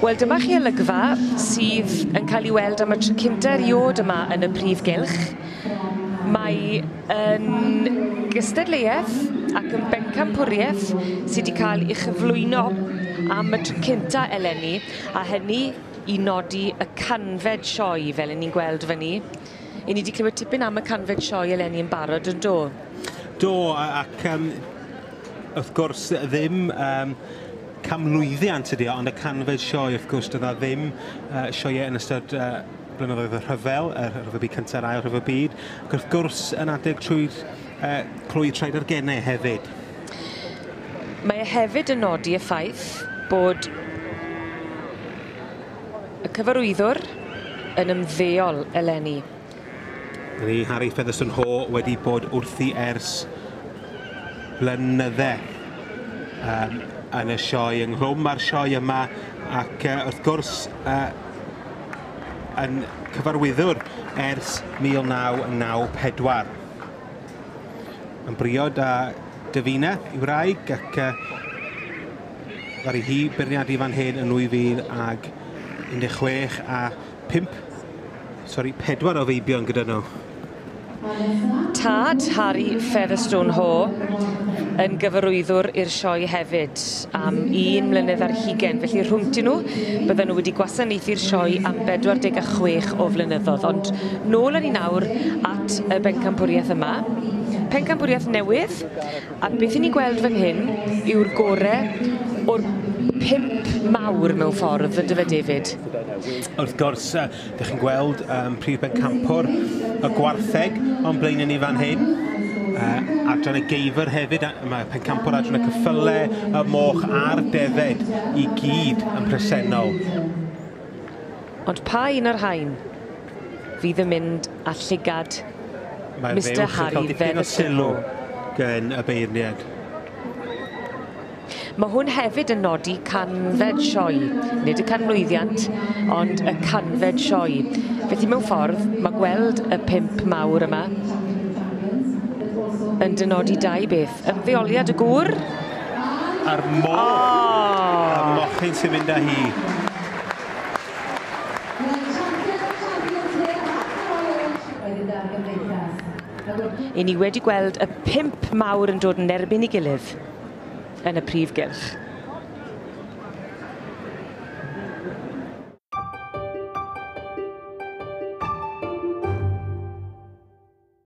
Wel, dyma chi olygfa sydd yn cael ei weld am y tro cynta erioed yma yn y prif gylch. Mae yn gystadleuaeth ac yn bencampwriaeth sydd wedi cael ei chyflwyno am y tro cynta eleni, a hynny i nodi y 100fed sioe, fel 'yn ni'n gweld fyny. 'Yn ni wedi clywed tipyn am y 100fed sioe eleni yn barod, yn do? Do, ac wrth gwrs ddim canmlwyddiant ydi o, ond y 100fed sioe, wrth gwrs, doedd 'na ddim sioeau yn ystod blynyddoedd y rhyfel, y rhyfel byd cyntaf a'r ail rhyfel byd, ac wrth gwrs yn adeg trwy'r clwy traed ar gennau hefyd. Mae e hefyd yn nodi y ffaith bod y cyfarwyddwr yn ymddeol eleni. Ni Harry Featherstone-Haw wedi bod wrthi ers blynydde yn y sioe, ynghlwm â'r sioe yma, ac wrth gwrs yn cyfarwyddwr ers 1994. Yn briod â Davina, i wraig, ac ddaru hi beirniadu fan hyn yn 2016 a 4 o feibion gyda nhw. Tad Harry Featherstone-Haw yn gyfarwyddwr i'r sioe hefyd am 1 mlynedd ar hugain, felly rhwngtyn nhw bydden nhw wedi gwasanaethu'r sioe am 46 o flynyddoedd. Ond nôl â ni nawr at y bencampwriaeth yma. Pencampwriaeth newydd, a beth 'yn ni'n gweld fan hyn yw'r gore o'r 5 mawr mewn ffordd, yndyfe, David? Wrth gwrs, ydych chi'n gweld prif bencampwr y gwartheg o'n blaen ni fan hyn. Adran y geifr hefyd, mae pencampwr adran y ceffyle, y moch a'r defed i gyd yn presennol. Ond pa un o'r rhain fydd yn mynd â llygad Mae'r Mister fuwch yn Harry cael dipyn o sylw Featherstone-Haw? gen y beirniad. Mae hwn hefyd yn nodi 100fed sioe, nid y canmlwyddiant, ond y 100fed sioe. Felly mewn ffordd, mae gweld y 5 mawr yma yn dynodi dau beth. Ymddeoliad y gŵr. A'r moch. Oh. Y mochyn sy'n mynd â hi. I ni wedi gweld y 5 mawr yn dod yn erbyn ei gilydd yn y prif gylch.